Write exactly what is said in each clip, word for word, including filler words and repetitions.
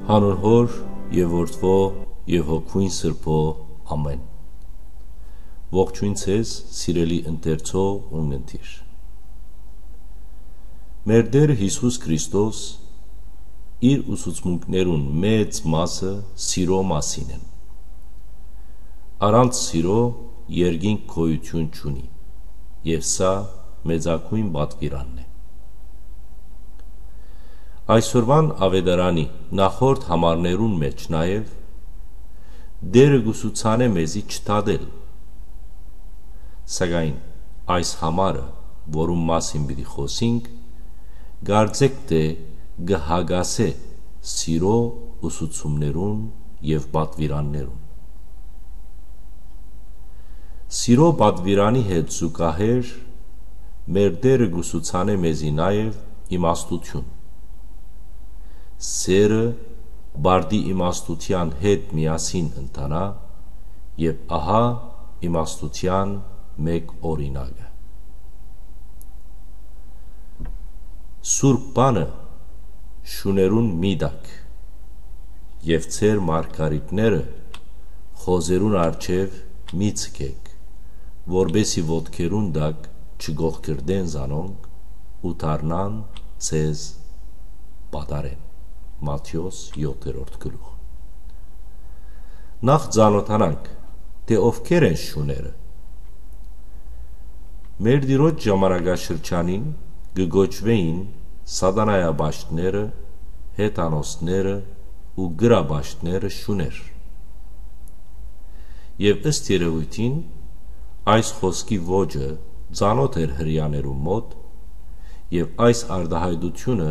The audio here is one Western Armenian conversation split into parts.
Անոր Հօր եւ Որդւոյ եւ Հոգւոյն Սրբոյ, ամէն։ Ողջոյն ձեզ, սիրելի ընթերցող ու ընթեր։ Մեր Տէր Յիսուս Քրիստոս իր ուսուցմունքներուն մեծ մասը սիրո մասին են։ Առանց սիրո երկինք գոյութիւն չունի, եւ սա մեծագոյն պատուիրանն է։ Այսօրուան աւետարանի նախորդ համարներուն մէջ նաեւ Տէրը կ'ուսուցանէ մեզի չդատել։ Սակայն այս համարը, որուն մասին պիտի խօսինք, կարծէք թէ կը հակասէ սիրո ուսուցումներուն եւ պատուիրաններուն։ Սիրո պատուիրանի հետ զուգահեռ մեր Տէրը կ'ուսուցանէ մեզի նաեւ իմաստութիւն։ Սէրը բարդի իմաստութեան հետ միասին ընթանայ, եւ ահա իմաստութեան մէկ օրինակը։ Սուրբ բանը շուներուն մի տաք, եւ ձեր մարգարիտները խոզերուն առջեւ մի ձգէք, որպէսզի ոտքերուն տակ չկոխկրտեն զանոնք ու դառնան ձեզ պատառեն։ Մատթէոս յոթերորդ գլուխ։ Նախ ծանօթանանք, թէ ովքեր են շուները։ Մեր Տիրոջ ժամանակաշրջանին կը կոչուէին սատանայապաշտները, հեթանոսները ու կրապաշտները շուներ։ Եւ ըստ երեւոյթին, այս խօսքի ոճը ծանօթ էր Հրեաներուն մօտ, եւ այս արտայայտութիւնը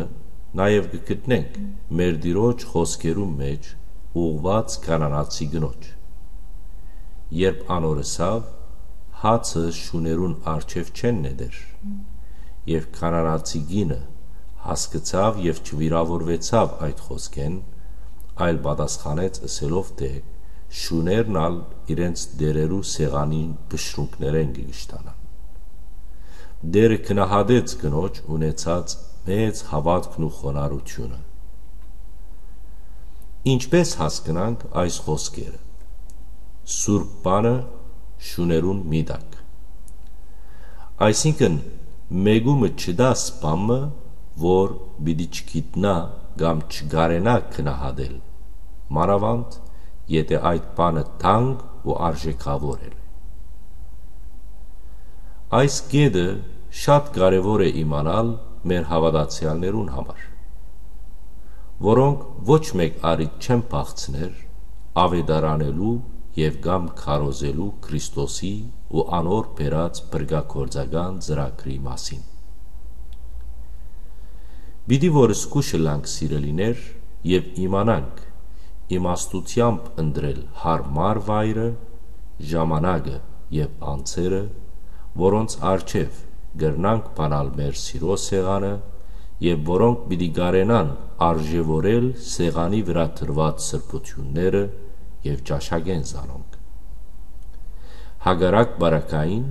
նաեւ կը գտնենք մեր Տիրոջ խօսքերուն մէջ ուղղուած կանանացի կնոջ, երբ անոր ըսաւ. «Հացը շուներուն առջեւ չեն նետեր»։ Եւ կանանացի կինը հասկցաւ եւ չվիրաւորուեցաւ այդ խօսքէն, այլ պատասխանեց ըսելով թէ. «Շուներն ալ իրենց տէրերու սեղանին բշրունքներէն կը կշտանան»։ Տէրը գնահատեց կնոջ ունեցած մեծ հաւատքն ու խոնարհութիւնը։ Ինչպէս հասկնանք այս խօսքերը. «Սուրբ բանը շուներուն մի տակ»։ Այսինքն, մէկու մը չտաս բան մը, որ պիտի չգիտնայ կամ չկարենայ գնահատել, մանաւանդ եթէ այդ բանը թանկ ու արժէքաւոր է։ Այս կետը շատ կարեւոր է իմանալ մեր հաւատացեալներուն համար, որոնք ոչ մէկ առիթ չեն փախցներ աւետարանելու եւ կամ քարոզելու Քրիստոսի ու անոր բերած փրկագործական ծրագրի մասին։ Պիտի որ զգուշ ըլլանք, սիրելիներ, եւ իմանանք իմաստութեամբ ընտրել յարմար վայրը, ժամանակը եւ անձերը, որոնց առջեւ կրնանք բանալ մեր սիրո սեղանը եւ որոնք պիտի կարենան արժեւորել սեղանի վրայ դրուած սրբութիւնները եւ ճաշակեն զանոնք։ Հակառակ պարագային,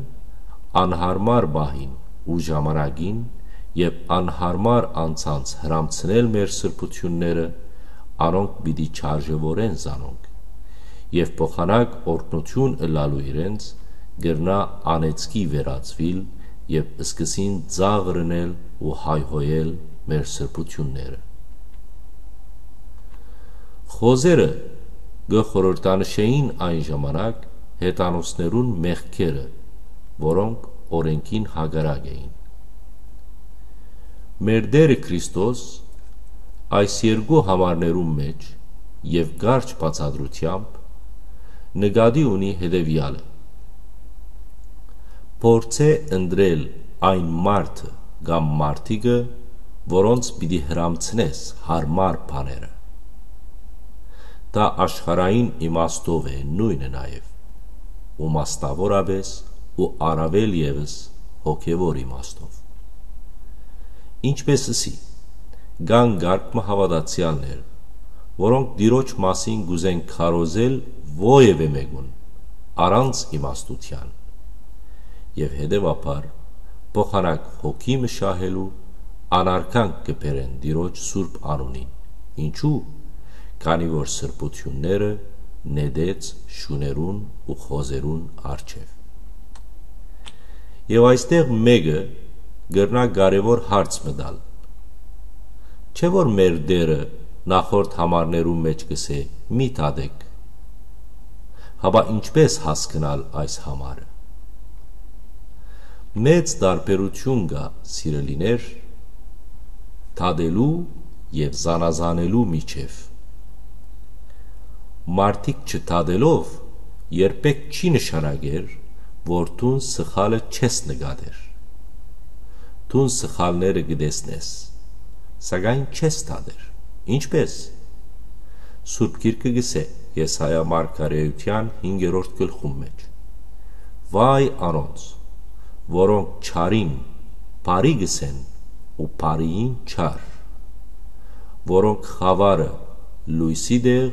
անյարմար պահին ու ժամանակին, երբ անյարմար անցանց հրամցնել մեր սրբութիւնները, անոնք պիտի չարժեւորեն զանոնք, եւ փոխանակ օրհնութիւն ըլլալու իրենց, կրնայ անեծքի վերածուիլ եւ սկսին ծաղրնել ու հայհոյել մեր սրբութիւնները։ Խոզերը կը խորհրդանշէին այն ժամանակ հեթանոսներուն մեղքերը, որոնք օրէնքին հակառակ էին։ Մեր Տէրը Քրիստոս այս երկու համարներուն մէջ եւ կարճ բացատրութեամբ նկատի ունի հետեւեալը. փորձէ ընտրել այն մարդը կամ մարդիկը, որոնց պիտի հրամցնես յարմար բաները։ Դա աշխարհային իմաստով է նոյնը նաեւ, ու մասնաւորապէս ու առաւել եւս հոգեւոր իմաստով։ Ինչպէս ըսի, կան կարգ մը հաւատացեալներ, որոնք Տիրոջ մասին կ'ուզեն քարոզել որեւէ մէկուն, առանց իմաստութեան, եւ հետեւաբար փոխանակ հոգի մը շահելու անարգանք կը բերեն Տիրոջ սուրբ անունին։ Ինչու՞։ քանի որ սրբութիւնները նետեց շուներուն ու խոզերուն առջեւ։ Եւ այստեղ մէկը կրնայ կարեւոր հարց մը տալ։ Չէ՞ որ մեր Տէրը նախորդ համարներուն մէջ կ'ըսէ. «Մի թատէք»։ Հապա ինչպէ՞ս հասկնալ այս համարը։ Մեծ տարբերութիւն կայ, սիրելիներ, թատելու եւ զանազանելու միջեւ։ Մարդիկ չթատելով երբեք չի նշանակեր, որ դուն սխալը չես նկատեր։ Դուն սխալները կը տեսնես, սակայն չես թատեր։ Ինչպէ՞ս։ Սուրբ Գիրքը կ'ըսէ Եսայա մարգարէութեան հինգերորդ գլխուն մէջ. «Վայ անոնց, որոնք չարին բարի կ'ըսեն ու բարիին չար, որոնք խաւարը լոյսի տեղ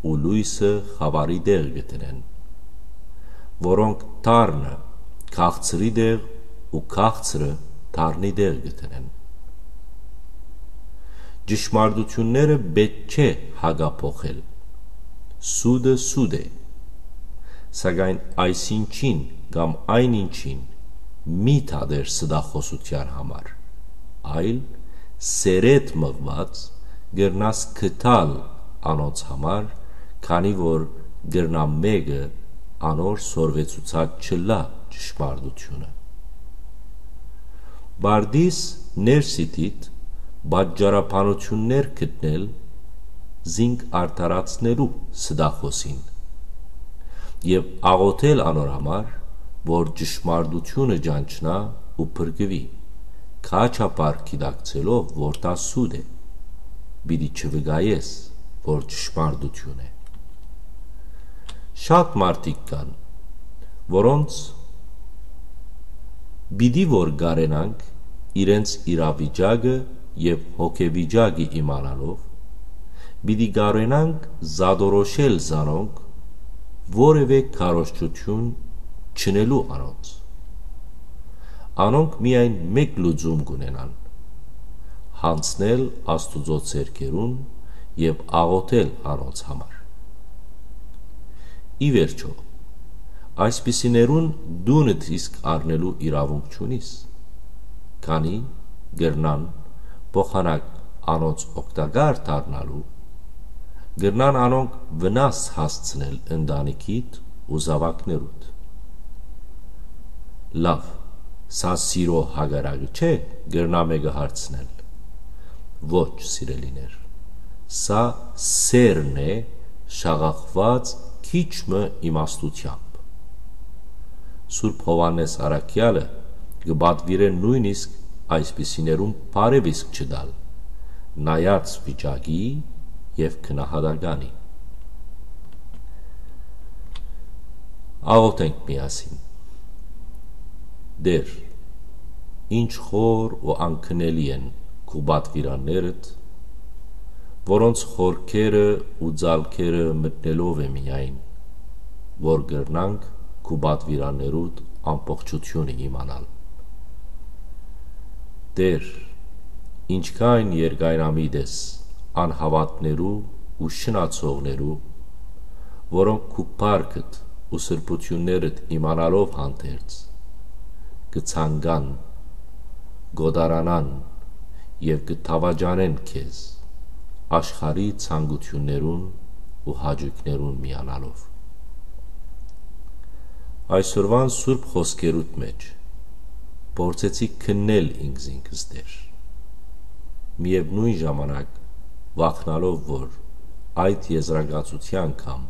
ու լոյսը խաւարի տեղ կը դնեն, որոնք դառնը քաղցրի տեղ ու քաղցրը դառնի տեղ կը դնեն»։ Ճշմարտութիւնները պէտք չէ հակափոխել։ Սուտը սուտ է, սակայն այսինչին կամ այն ինչին մի թատեր ստախոսութեան համար, այլ սերետ մղուած կրնաս գտալ անոնց համար, քանի որ կրնայ մէկը անոր սորվեցուցած չըլլայ ճշմարտութիւնը։ Պարտիս ներսիդիդ պատճառաբանութիւններ գտնել զինք արդարացնելու ստախոսին եւ աղօթել անոր համար, որ ճշմարտութիւնը ճանչնայ ու փրկուի, քաչափառ գիտակցելով, որ դա սուտ է, պիտի չվկայես, որ ճշմարտութիւն է։ Շատ մարդիկ կան, որոնց պիտի որ կարենանք իրենց իրավիճակը եւ հոգեվիճակը իմանալով, պիտի կարենանք զատորոշել զանոնք որեւէ քարոզչութիւն չընելու անոնց։ Անոնք միայն մէկ լուծում կ'ունենան՝ յանձնել Աստուծոյ ձեռքերուն եւ աղօթել անոնց համար։ Ի վերջոյ, այսպիսիներուն դունդ իսկ առնելու իրաւունք չունիս, քանի կրնան փոխանակ անոնց օգտակար դառնալու, կրնան անոնք վնաս հասցնել ընտանիքիդ ու զաւակներուդ։ Լաւ, սա սիրո հակառակը չէ՞, կրնայ մէկը հարցնել։ Ոչ, սիրելիներ, սա սերն է՝ շաղախուած քիչ մը իմաստութեամբ։ Սուրբ Յովհաննէս Առաքեալը կը պատուիրէ նոյնիսկ այսպիսիներուն բարեւ իսկ չտալ, նայած վիճակի եւ գնահատականի։ Աղօթենք միասին։ Տէր, ինչ խոր ու անկնելի են քու պատուիրաններդ, որոնց խորքերը ու ձալքերը մտնելով է միայն, որ կրնանք քու պատուիրաններուդ ամբողջութիւնը իմանալ։ Տէր, ինչքան երկայնամիտ ես անհաւատներու ու շնացողներու, որոնք քու փառքդ ու սրբութիւններդ իմանալով հանդերձ, կը ցանկան, կ'օտարանան եւ կը դաւաճանեն քեզ, աշխարհի ցանկութիւններուն ու հաճոյքներուն միանալով։ Այսօրուան սուրբ խօսքերուդ մէջ փորձեցի քննել ինքզինքս, Տէր, միեւնոյն ժամանակ վախնալով, որ այդ եզրակացութեան կամ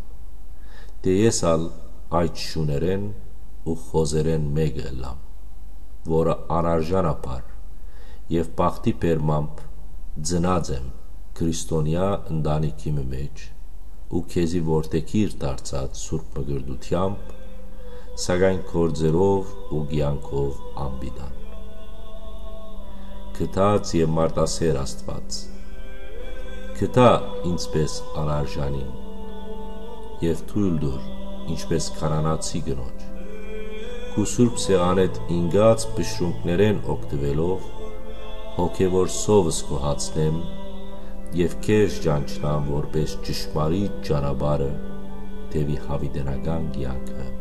թէ ես ալ այդ շուներէն ու խոզերէն մէկը ըլլամ, որը անարժանաբար եւ բախտի բերմամբ ծնած եմ քրիստոնեայ ընտանիքի մը մէջ ու քեզի որդեգիր դարձած սուրբ մկրտութեամբ, սակայն գործերով ու կեանքով անպիտան։ Գթած եւ մարդասեր Աստուած, գթա ինձ պէս անարժանին եւ թոյլ տուր, ինչպէս քանանացի կնոջ, քու սուրբ սեղանէդ ինկած բշրունքներէն օգտուելով, հոգեւոր սովս կ'ուհացնեմ, եւ քեզ ճանչնամ որպէս ճշմարիտ ճանապարհը, դեւի յաւիտենական կեանքը»։